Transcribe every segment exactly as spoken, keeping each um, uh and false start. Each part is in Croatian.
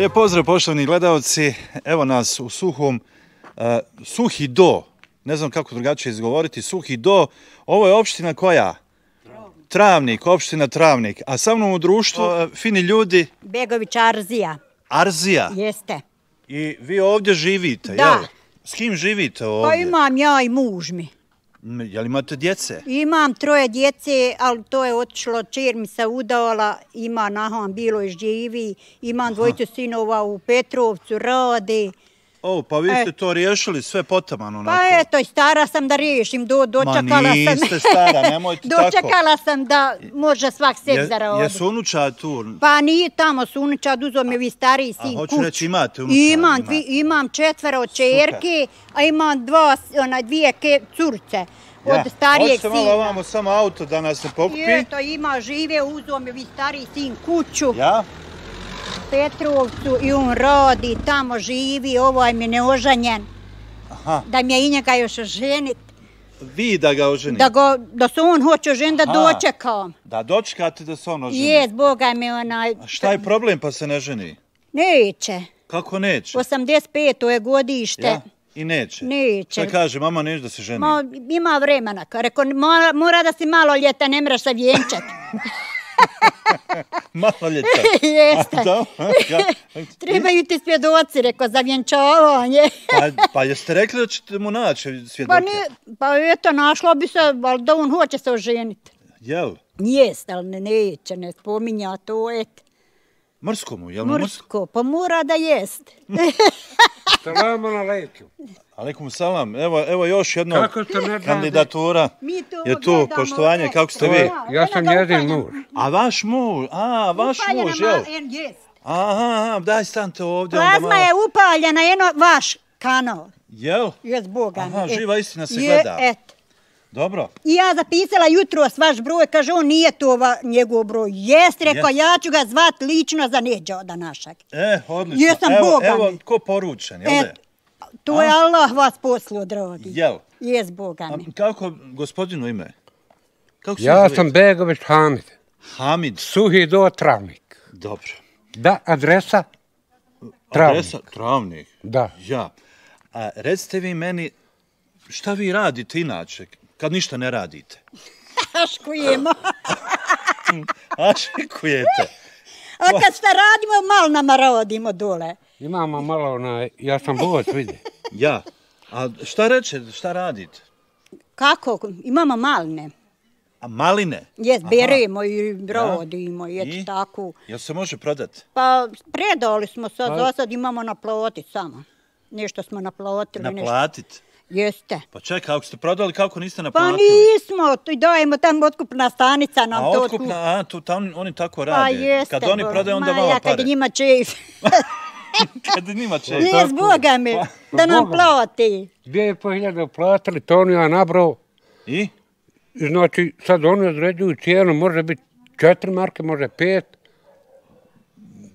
Lijep pozdrav poštovani gledalci, evo nas u Suhom, uh, Suhi Do, ne znam kako drugačije izgovoriti, Suhi Do, ovo je opština koja? Travnik. Travnik, opština Travnik, a sa mnom u društvu uh, fini ljudi? Begović Arzija. Arzija? Jeste. I vi ovdje živite, da. Jel? S kim živite ovdje? Pa imam ja i muž mi. Jel imate djece? Imam troje djece, ali to je otišlo, čer mi se udavala, ima nahom bilo i živi, imam dvojicu sinova u Petrovcu, rade. O, pa vi ste to riješili sve potaman onako. Pa eto, i stara sam da riješim, do, dočekala Ma niste sam. stara, nemojte tako. Dočekala sam da može svak sebi zaradi. Jesu unučad tu? Pa nije tamo su unučad, uzeo mi vi stariji sin kuću. A hoću reći imate unučad? Imam, imate. Imam četvero čerke, a imam dva, ona, dvije ke, curce. Od ja. starijeg sina. Hoćete malo ovamo samo auto da nas ne pokupi? I eto, ima žive, uzeo mi vi stariji sin kuću. Ja? Petrovcu i on radi, tamo živi, ovaj mi neoženjen. Aha. Da mi je i njega još oženit. Vi da ga oženite? Da, go, da se on hoće oženiti, da dočekam. Da dočekate da se on oženi? Jes, Boga mi onaj... A šta je problem pa se ne ženi? Neće. Kako neće? osamdeset peto je godište. Ja? I neće? Neće. Šta kaže, mama neće da se ženi? Ma, ima vremena. Rekao, mora, mora da si malo ljeta, ne mreš se vjenčat. Malo ljeta? Jeste. Da? Trebaju ti svjedoci, rekao, za vjenčavanje. pa, pa jeste rekli da ćete mu naći svjedoke? Pa, ne, pa eto, našlo bi se, ali da on hoće se oženiti. Jel? Jeste, ali ne, neće, ne spominja to, et. Mrsko mu, jel mu mrsko? Mrsko, pa mora da jest. Salam alaikum. Alaikum salam. Evo, evo još jedna kandidatura. Mi to je tu, gledamo, poštovanje, ne. kako ste vi? Ja sam jedin muž. A vaš muž, a, vaš muž, jel? Jest. Aha, aha, daj stanite ovdje. Plazma malo... je upaljena, eno vaš kanal. Jel? Jest, Boga mi. Aha, živa istina se je, gleda. Et. Dobro. I ja zapisala jutro vaš broj, kaže on nije to ova, njegov broj. Jest, rekao, yes. ja ću ga zvat lično za Neđoda našeg. E, odlično. Jesam evo, Boga evo, mi. ko poručen, jel Et, to a? je Allah vas poslao, dragi. Jel? Jest, Boga mi. A kako gospodinu ime? Kako ja sam Begović Hamid. Hamid. Suhi Do, Travnik. Dobro. Da, adresa? Travnik. Adresa? Travnik. Da. Ja. A recite vi meni, šta vi radite inače, kad ništa ne radite? Aškujemo. Aškujete. A kad šta radimo, malo nama rodimo dole. Imamo malo onaj, ja sam bovac, vidi. Ja. A šta reče, šta radite? Kako? Imamo maline. A maline? Jes, beremo i rodimo, ja. I eto tako. Jel se može prodati? Pa predali smo sad, za sad imamo naplatit samo. Nešto smo naplatili. Naplatit? Nešto. Jeste. Pa čekaj, ako ste prodali, kako niste naplatili? Pa nismo, to dajemo tamo otkupna stanica nam a, to. A otkupna, a tu tam oni tako rade. Pa jeste. Kad oni prodaju, onda ma, vama ja, pare. kad njima čef. Kad njima čef. Jes, Boga mi, pa, da nam plati. Dvije i po hiljade platili, to oni ja nabrao. I? Znači, sad oni određuju cijenu, može biti četiri marke, može pet.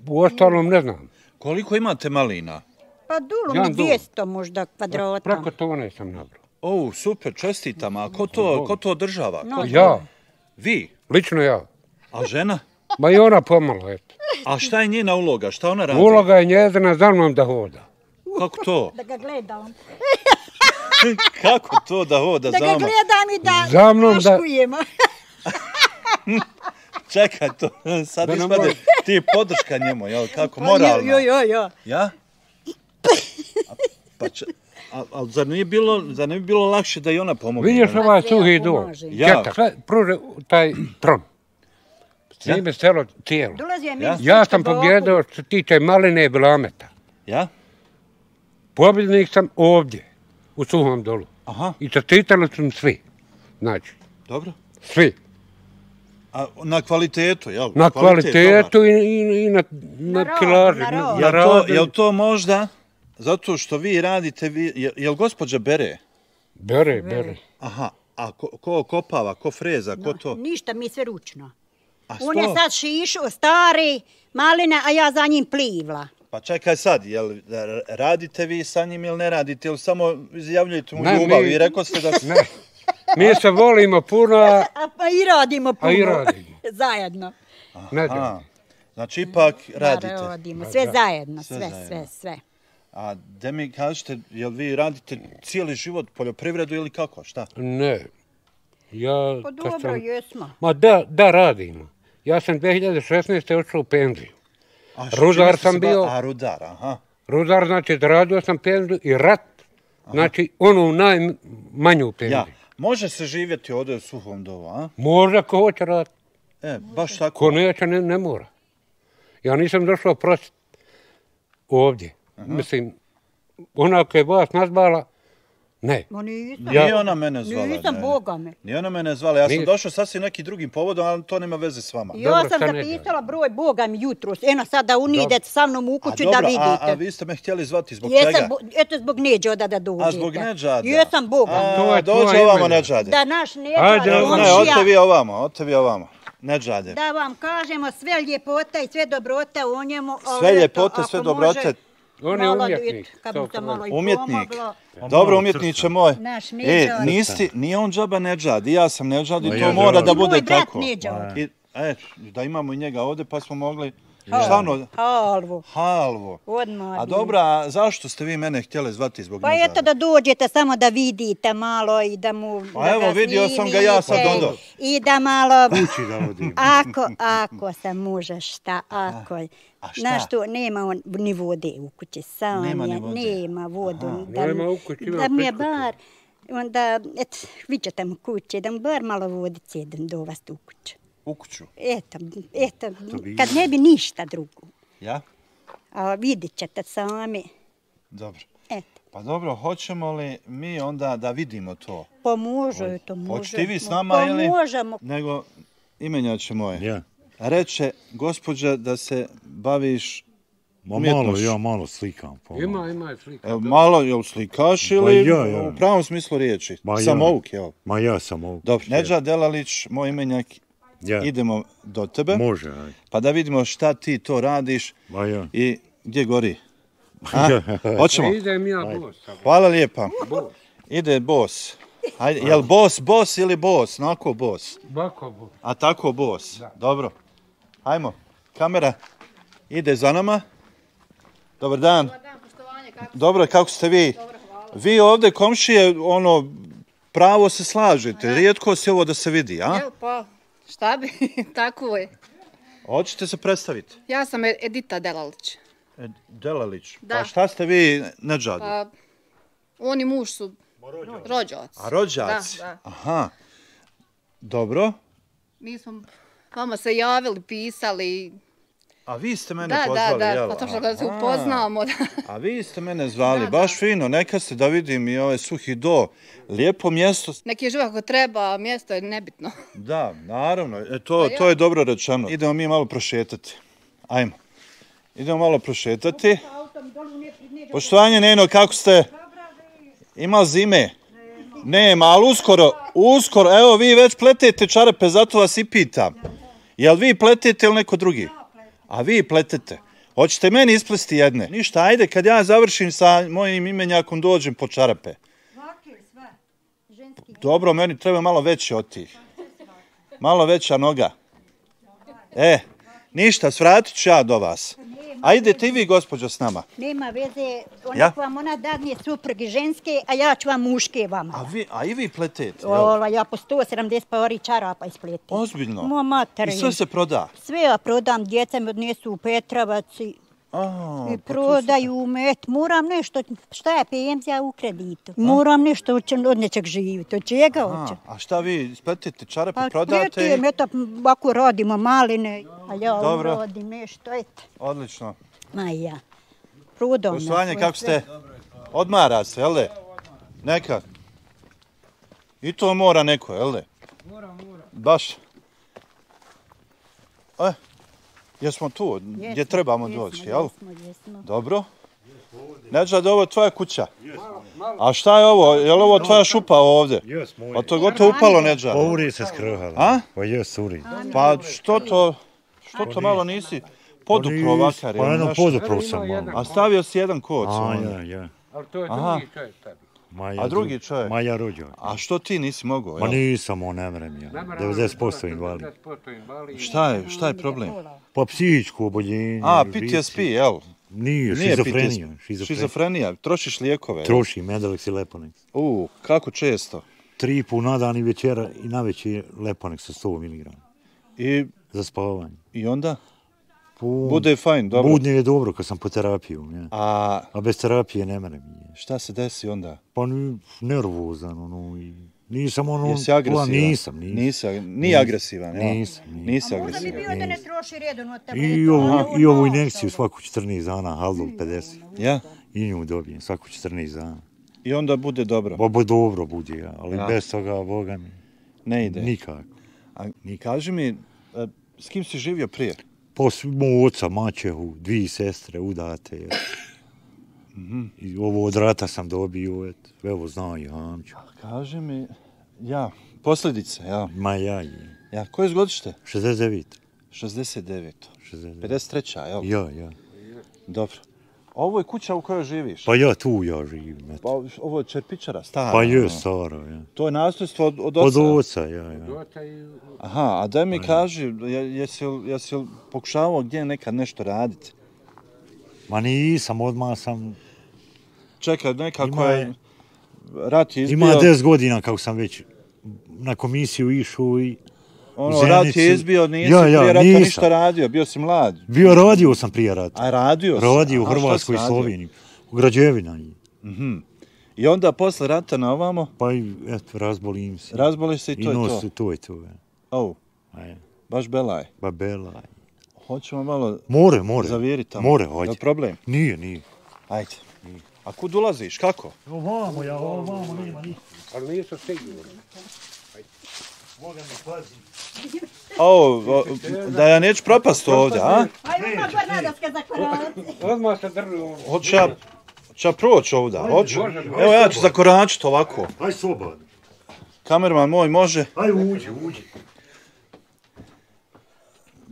U ostalom ne znam. Koliko imate malina? Pa dulu mi dvjesto možda kvadrata. Preko tone sam nabrao. O, super, čestitam. A ko to, ko to održava? No, ko... Ja. Vi? Lično ja. A žena? Ma i ona pomalo, eto. A šta je njena uloga? Šta ona radi? Uloga je njezina za mnom da hoda. Kako to? Da ga gledam. Kako to da hoda za Da mnom? ga gledam i da za mnom aškujemo. Čekaj to, sad ispade ti podrška njemu, jel, kako, moralno? Jo, jo, jo. Ja? A, pa če, a, ali zar nije bilo, zar ne bi bilo lakše da i ona pomogne? Vidiš ovaj Suhi Do? Ja. Četak, pruže taj tron. Snime selo cijelo. Ja, ja sam pobjedao što se tiče maline i blameta. Ja? Pobjednik sam ovdje, u Suhom Dolu. Aha. I čestitali su svi. Znači. Dobro. Svi. A na kvalitetu, jel? Na kvalitetu i, i, i na, na, na kilaži. Na na, jel, to, jel to možda zato što vi radite, vi, jel, jel gospođa bere? Bere, bere. Aha, a ko, ko kopava, ko freza, ko no, to? Ništa, mi sve ručno. A on je sad šišao, stari, maline, a ja za njim plivla. Pa čekaj sad, jel radite vi sa njim ili ne radite, ili samo izjavljujete mu ne, ljubav mi, i rekao ste da... Ne. Mi se volimo puno, a... A pa i radimo puno. A i radimo. Zajedno. Ne znam. Znači, ipak radite. Da, radimo, sve zajedno, sve, zajedno. sve, sve. A da mi kažete, jel vi radite cijeli život poljoprivredu ili kako, šta? Ne. Ja, Pa kad dobro, sam- jesmo. Ma da, da radimo. Ja sam dvije hiljade šesnaeste otišao u penziju. A što, Rudar čime ste sam se ba- bio. A, rudar, aha. Rudar, znači, radio sam penziju i rat, znači, onu najmanju penziju. Ja, može se živjeti ovdje u Suhom Dovu, a? Možda ko hoće raditi, E, baš tako. ko neće, ne, ne mora. Ja nisam došao prositi ovdje. Mislim, ona koja je vas nazvala, ne. Ma nisam. Nije ona mene zvala. Nisam, ne. Boga me. Nije ona mene zvala, ja sam Nije. došao sasvim nekim drugim povodom, ali to nema veze s vama. Ja Dobro, sam šta ne zapisala broj Boga mi jutros. Eno sad da unidete sa mnom u A kuću dobro, da vidite. a, a vi ste me htjeli zvati zbog čega? Jesam, bo- eto zbog Neđoda da dođete. A zbog Neđada? Jesam Boga. A, To je dođe tvoje ovamo ime. Neđade. Da naš Ajde, Neđad, ne, Ne, komšija, odte vi ovamo, odte vi ovamo. Neđade. da vam kažemo sve ljepota i sve dobrote o njemu. ali Sve eto, ljepote, ako sve može, dobrote. On je malo umjetnik. eto, Kad to bi se malo i Umjetnik. pomoglo. Dobro, umjetniče moj. Naš E, Neđad. nisi, nije on džaba Neđad, i ja sam Neđad i Ma to ja mora želim. da I moj bude brat tako. Neđad. I, e, da imamo i njega ovdje pa smo mogli... Šta ono? Halvo. Halvo. Odmah. A bi. dobro, a zašto ste vi mene htjeli zvati zbog Pa Neđada? eto da dođete samo da vidite malo i da mu Pa da evo, ga vidio sam ga ja sad snimite odo. I da malo Kući da odimo. ako ako se može šta ako a šta? znaš što nema on ni vode u kući sam Nema ni je, vode. nema vodu da, Nema u kući, ima da mi je pri kući. bar onda et vidite mu kuće da mu bar malo vodice da do vas u kuću. U kuću. Eto, eto, kad ne bi ništa drugo. Ja? A vidit ćete sami. Dobro. Eto. Pa dobro, hoćemo li mi onda da vidimo to? Pa može, to može. Hoćete i vi s nama pa ili? možemo. Nego, imenjače moje. Ja. Reče gospođa da se baviš Ma malo, umjetnošću. ja malo slikam. Pa. Ima, ima je slika. Evo, malo, jel slikaš ili ja, ja. u pravom smislu riječi? Ma ja. Samouk, jel? Ma ja sam ovdje. Dobro, Neđa Delalić, moj imenjak, Ja. idemo do tebe, Može, aj. pa da vidimo šta ti to radiš Ma ja. i gdje gori. A? Hoćemo? Idem ja bos. Hvala lijepa. Ide bos. Ajde, jel bos, bos ili bos? Nako bos. Bako bos. A tako bos. Dobro. Hajmo. Kamera ide za nama. Dobar dan. Dobro, kako ste vi? Vi ovdje komšije, ono, pravo se slažete. Rijetko se ovo da se vidi, a? Evo pa, šta bi, tako je. Hoćete se predstaviti? Ja sam Edita Delalić. E, Delalić. Da. Pa šta ste vi Neđadu? Pa, on i muž su rođaci. A rođaci? Da, da. Aha. Dobro. Mi smo vama se javili, pisali. A vi ste mene Da, da, pozvali, da, jel? pa to što da se Aha. upoznamo. Da. A vi ste mene zvali, Da, da. baš fino, neka ste da vidim i ovaj Suhi Do. Lijepo mjesto. Neki je živa kako treba, a mjesto je nebitno. Da, naravno, e, to, Pa ja. to je dobro rečeno. Idemo mi malo prošetati. Ajmo. Idemo malo prošetati. Poštovanje Neno, kako ste? Ima zime? Nema, ali uskoro, uskoro, evo vi već pletete čarape, zato vas i pitam. Jel vi pletete ili neko drugi? A vi pletete. Hoćete meni isplesti jedne? Ništa, ajde, kad ja završim sa mojim imenjakom dođem po čarape. Dobro, meni treba malo veće od tih. Malo veća noga. E, ništa, svratit ću ja do vas. A idete i vi, gospođo, s nama. Nema veze, ona Ja? vam ona dadne supruge ženske, a ja ću vam muške vama. A, vi, a i vi pletete, jel? Ola, ja po sto sedamdeset pari čarapa ispletim. Ozbiljno? Mo mater. I sve se proda? Sve ja prodam, djeca mi odnesu u Petrovac i, A, i pa to prodaju met. Moram nešto, šta je penzija u kreditu? Moram nešto od od nečeg živjeti. Od čega A, hoće? a šta vi spletete čarape, Pa prodate? pletim, eto, ako radimo maline, a ja Dobro. radim nešto, eto. Odlično. Ma ja. Prodam. ja Poštovanje, svoje kako sve. ste? Odmara se, jel de? Neka. I to mora neko, jel de? Mora, mora. Baš. E, jesmo tu, gdje Jesmo, trebamo jesmo, doći, jel? Jesmo, jesmo. Dobro. Neđa, ovo je tvoja kuća. A šta je ovo? Je li ovo tvoja šupa ovdje? Jes, moj. Pa to je gotovo upalo, Neđa. Pa uri se skrhala. A? Pa jes, uri. Pa što to, što to malo nisi podupro ovakar? Pa ili jedno nešto? podupro Ima sam jedan. malo. A stavio si jedan koc. A, onda. ja, ja. Ali to je Aha. drugi čovjek tebi. Maja, A drugi čovjek? Maja rođak. A što ti nisi mogao? Ma jel? nisam, on ne mrem ja. devedeset posto invalid. devedeset posto invalid. Šta je, šta je problem? Pa psihičko oboljenje. A, P T S P, jel? Nije, Nije P T S P. šizofrenija. Šizofrenija, trošiš lijekove. jel? Troši Medalex i Leponex. U, kako često? Tri put na dan i večera i navečer Leponex sa sto miligrama. I, Za spavanje. i onda? Pu- Bude fajn, dobro. Budnje je dobro kad sam po terapiju. Ja. A A bez terapije ne mrem. Ja. šta se desi onda? Pa ni, nervozan, ono, i nisam ono... Jesi agresivan? Nisam, nisam. Nisi, ag- nije agresivan, jel? Nisam, nisam. Nisi A možda bi agresivan. bio da ne troši redovno I, tabletu. ovu, ali I ono- ovu injekciju svaku četrnaest dana, Haldol pedeset. Ja? I nju dobijem svaku četrnaest dana. I onda bude dobro. Bo, bo dobro bude, ja, ali Ja. bez toga, Boga mi, Ne ide. nikako. A kaži mi, e, s kim si živio prije? Posle mog oca, mačehu, dvije sestre udate. Ja. I ovo od rata sam dobio, et, evo znao i Hamću. Kaži mi, ja, posljedice, ja. Ma ja i Ja, koje godište? šezdeset devet. šezdeset devet. šezdeset devet. pedeset treća, jel? Ja, ja. Dobro. Ovo je kuća u kojoj živiš? Pa ja tu ja živim. Et. Pa ovo je čerpičara, stara. Pa je ono. staro, ja. To je nasljedstvo od, od Od oca. oca, ja, ja. Dota i... Aha, a daj mi kaži, je- jesi li, jesi li pokušavao gdje nekad nešto raditi? Ma nisam, odmah sam... Čekaj, nekako Ima je... je- Rat je izbio... Ima deset godina kako sam već na komisiju išao i Ono, u rat je Zenici. izbio, nisi Ja, ja, prije rata nisam. ništa radio, bio si mlad. bio radio sam prije rata. A radio si? Radio u A šta si Hrvatskoj i radio? Sloveniji. U građevina. I onda posle rata na ovamo, Pa i eto, razbolim se. razboliš se i to I je nos, to. to je to. Ja. Oh, Aj, baš belaj. babela. Hoćemo malo More, more. zaviriti tamo. More, Je hoće. li problem? Nije, nije. Ajde. A kud ulaziš, kako? Ovamo, ja, ovamo, nema ništa. Ali nisu sigurni. Boga mi pazi. O, o, da ja neću propast ovdje, a? Ajmo na gornadaske za koraci. Odmah se drži ono. Hoću ja, hoću ja proći ovdje, hoću? može, može. Evo ja ću zakoračiti ovako. Aj slobodno. Kamerman moj može. Aj uđi, uđi.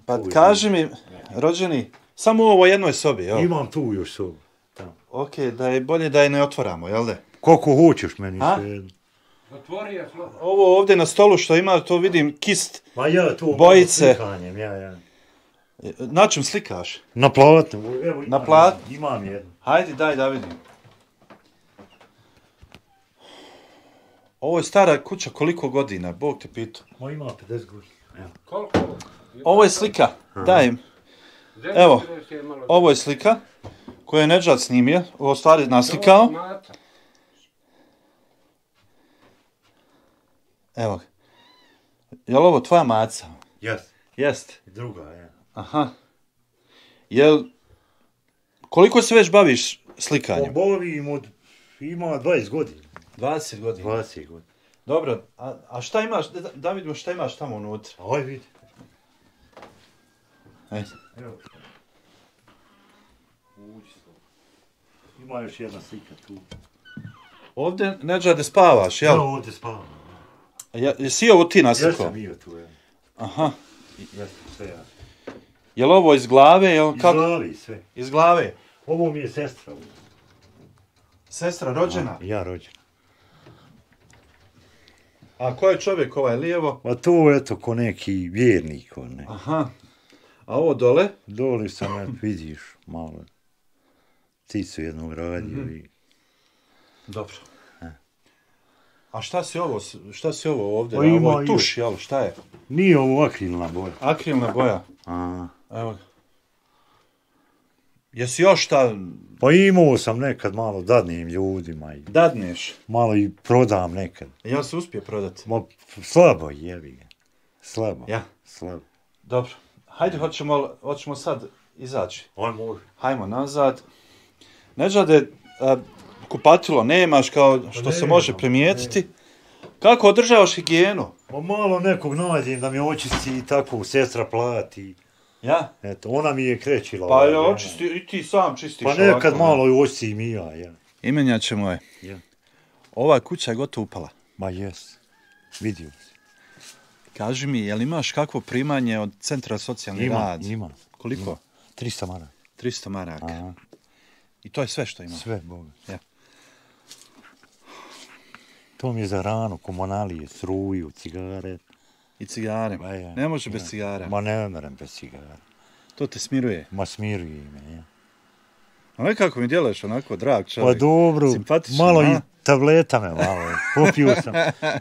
Pa kaži mi, rođeni, samo u ovoj jednoj sobi, jel? Imam tu još sobu. Tamo. Ok, da je bolje da je ne otvaramo, jel da? Koliko hoćeš meni A? sve. Zatvori je slobodno. Ovo ovdje na stolu što ima, to vidim kist. Ma ja tu Bojice. malo slikanjem, ja, ja. Na čem slikaš? Na platnu, evo imam, Na platnu? imam jednu. Hajde, daj da vidim. Ovo je stara kuća koliko godina, Bog te pitao. Ma ima pedeset godina. Evo. Koliko? Ovo je slika, daj im. Evo. Zemlje je malo- Ovo je slika koju je Nedžad snimio, ovo stvari naslikao. Mata. Evo ga. Je li ovo tvoja maca? Jes. Jest. Druga, ja. Aha. Jel, koliko se već baviš slikanjem? Obavim od, ima dvadeset godina. dvadeset godina. dvadeset godina. Dobro, a, a šta imaš, da, da vidimo šta imaš tamo unutra. Aj vidi. Ajde. Evo. Uđi slobodno. Ima još jedna slika tu. Ovdje, Nedžade, spavaš, jel? Ja ovdje spavam. Ja, jesi ovo ti Ja naslikao? sam bio tu, ja. Aha. Ja sam sve ja. Jel ovo iz glave, jel Iz kako? glavi sve. Iz glave. Ovo mi je sestra. Sestra rođena. Ja rođen. A ko je čovjek ovaj lijevo? Pa to eto ko neki vjernik, on ne. Aha. A ovo dole? Doli sam, ja, vidiš, malo. Cicu jednog radio i... Dobro. A šta si ovo, šta si ovo ovdje? Pa ima Ovo je i- tuš, jel? Šta je? Nije ovo akrilna boja. Akrilna boja. A, Evo ga. Jesi još šta pa imao sam nekad malo dadnim ljudima i dadneš? malo i prodam nekad. Ja se uspije prodati. Ma, slabo jebi ga. Slabo. Ja. Slabo. Dobro. Hajde, hoćemo, hoćemo sad izaći. Aj može. Hajmo nazad. Nedžade, a, kupatilo nemaš kao što se nemam, može primijetiti. Kako održavaš higijenu? Pa malo nekog nađem da mi očisti i tako sestra plati. Ja? Eto, ona mi je krećila. Pa ovaj, ja ja. očisti, i ti sam čistiš Pa nekad ovako, malo i očistim i ja, ja. Imenjače moje. Ja. Ova kuća je gotovo upala. Ma jes. Vidio si. Kaži mi, jel imaš kakvo primanje od Centra socijalni Ima, rad? ima. Koliko? Ima. trista maraka. tristo maraka. Aha. I to je sve što ima. Sve, Boga. To mi je za hranu, komunalije, struju, cigare. I cigare. Ma ja, Ne može ja. bez cigara. Ma ne merem bez cigara. To te smiruje. Ma smiruje me, ja. A nekako mi djeluješ onako drag Pa čovjek. dobro, Simpatičan, malo a? i tableta me malo. Popio sam,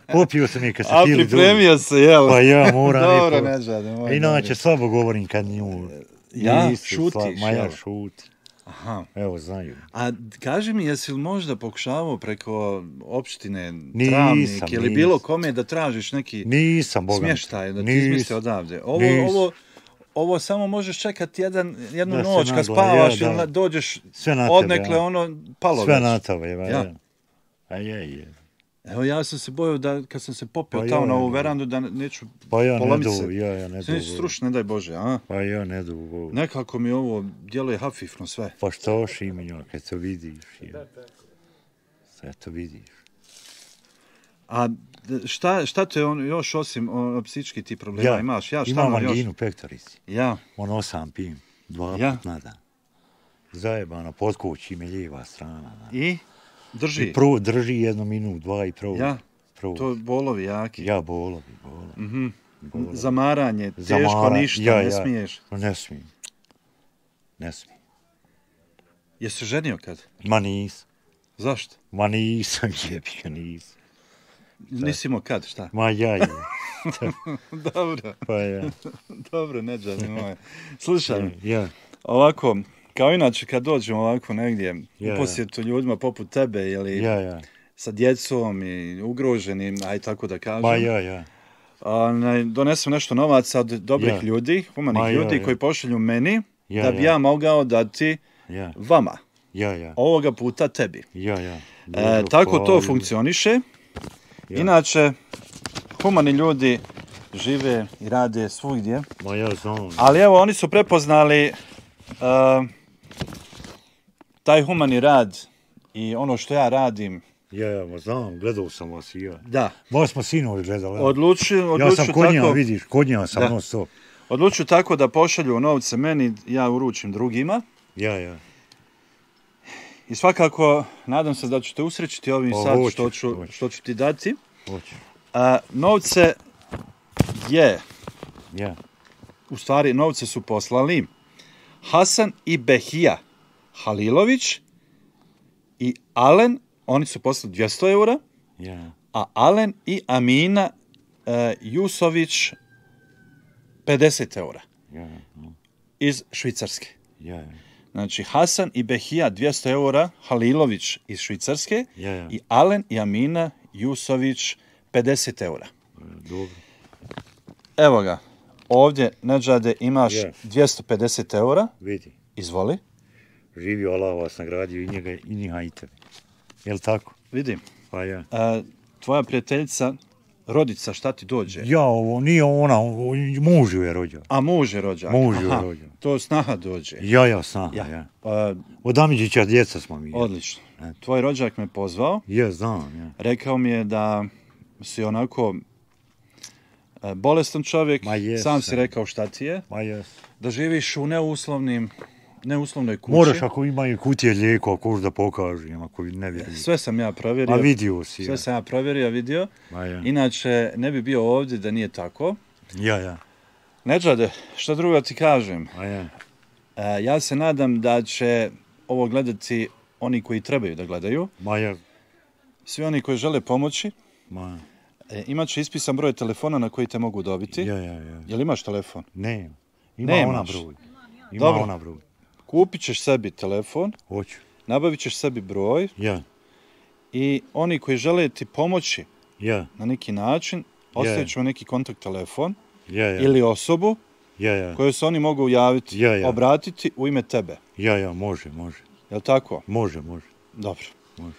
popio sam i kad se A pili pripremio se, jel? Pa ja moram Dobro, i po... Neđade, moj Inače, dobri. slabo govorim kad nju... Ja? Nisi, Šutiš, sla- Ma ja jel? šutim. Aha. Evo, znaju. A kaži mi, jesi li možda pokušavao preko opštine Nisam, Travnik ili bilo nisam. kome da tražiš neki Nisam, Boga mi. smještaj, da ti Nisam. izmisli odavde? Ovo, Nisam. ovo, ovo samo možeš čekati jedan, jednu Da se noć kad nagla- spavaš ja, ili da. na- dođeš Sve na tebe, odnekle ja. ono palo Sve već. na tebe, ja. Ja. ja. A je, je. Evo ja sam se bojao da kad sam se popeo Pa tamo ja, na ovu ja. verandu da neću Pa ja ne polomit du, se. ja, ja ne Se nisi du. strušno, ne daj Bože, a? Pa ja ne du. Nekako mi ovo djeluje hafifno sve. Pa što šiminjo, kad to vidiš, ja. Sve to vidiš. A d- šta, šta te on još osim o, psički ti problema imaš? Ja, šta imam imam još? anginu pektorici. Ja, Ono sam pijem, dva Ja. put na dan. Zajebano, pod kući me lijeva strana. Da. i drži. I prvo drži jednu minut, dva i prvo. Ja, prvo. to bolovi jaki. Ja bolovi, bolovi. Mhm. bolovi. Zamaranje, teško Zamara- ništa, ja, ne ja. smiješ. Ne smijem. Ne smijem. Jesi ženio kad? Ma nisam. Zašto? Ma nisam, jebika nisam. Nisi imao kad, šta? Ma ja je. Dobro, Pa ja. dobro, neđani moje. Slušaj, Ja. ovako, kao inače kad dođemo ovako negdje Ja, u posjetu ljudima poput tebe ili Ja, ja. sa djecom i ugroženim, aj tako da kažem, Ma ja, ja. onaj, donesem nešto novaca od dobrih Ja. ljudi, humanih Ma ja, ljudi ja. koji pošalju meni Ja, da bi ja. ja mogao dati Ja, vama, ja, ja. ovoga puta tebi. Ja, ja. E, Dobro, tako to hvala. funkcioniše. Ja. Inače, humani ljudi žive i rade svugdje, Ma ja znam. ali evo oni su prepoznali e, taj humani rad i ono što ja radim. Ja, ja, ma znam, gledao sam vas i ja. Da, Baš smo sinovi gledali. ja. odlučuju, Ja odlučuju sam kod njega, tako, vidiš, kod njega sam Da. non stop. odlučuju tako da pošalju novce meni, ja uručim drugima. Ja, ja. I svakako, nadam se da ću te usrećiti ovim Pa sad hoćeš, što ću, hoćeš. što ću ti dati. Hoće. A, novce je, Ja. u stvari novce su poslali Hasan i Behija Halilović i Alen, oni su poslali dvjesto eura, Ja. a Alen i Amina e, Jusović pedeset eura Ja. Ja. iz Švicarske. Ja, ja. Znači, Hasan i Behija dvjesto eura, Halilović iz Švicarske Ja, ja. i Alen i Amina Jusović pedeset eura. Dobro. Evo ga, ovdje, Neđade, imaš Je. dvjesto pedeset eura, Vidi. izvoli, Živio Allah vas nagradio i njega i njega i tebe. Jel tako? vidim. Pa ja. A, tvoja prijateljica, rodica, šta ti dođe? Ja, ovo nije ona, ovo, muž ju je rođao. A muž je rođak. Muž ju je Aha, rođao. to snaha dođe. Ja, ja, snaha, Ja. ja. Pa, Od Amidžića djeca smo mi. odlično. Eto. Tvoj rođak me pozvao, Ja, znam, ja. rekao mi je da si onako e, bolestan čovjek, Ma jesam. sam si rekao šta ti je, Ma jes. da živiš u neuslovnim, neuslovnoj kući. Moraš ako imaju kutije lijekova, ako da pokažem, ako ne vjeruju. Sve sam ja provjerio. A vidio si, Sve ja. sam ja provjerio, vidio. Ma ja. Inače, ne bi bio ovdje da nije tako. Ja, ja. Neđade, što drugo ti kažem? Ma ja. E, ja se nadam da će ovo gledati oni koji trebaju da gledaju. Ma ja. Svi oni koji žele pomoći. Ma. E, imat će ispisan broj telefona na koji te mogu dobiti. Ja, ja, ja. Jel imaš telefon? Ne. Ima Nemaš. ona broj. Ima Dobro. ona broj. Kupit ćeš sebi telefon, Hoću. nabavit ćeš sebi broj Ja. i oni koji žele ti pomoći Ja. na neki način, ostavit ćemo neki kontakt telefon Ja, ja. ili osobu Ja, ja. koju se oni mogu javiti, Ja, ja. obratiti u ime tebe. Ja, ja, može, može. Jel tako? Može, može. Dobro. Može.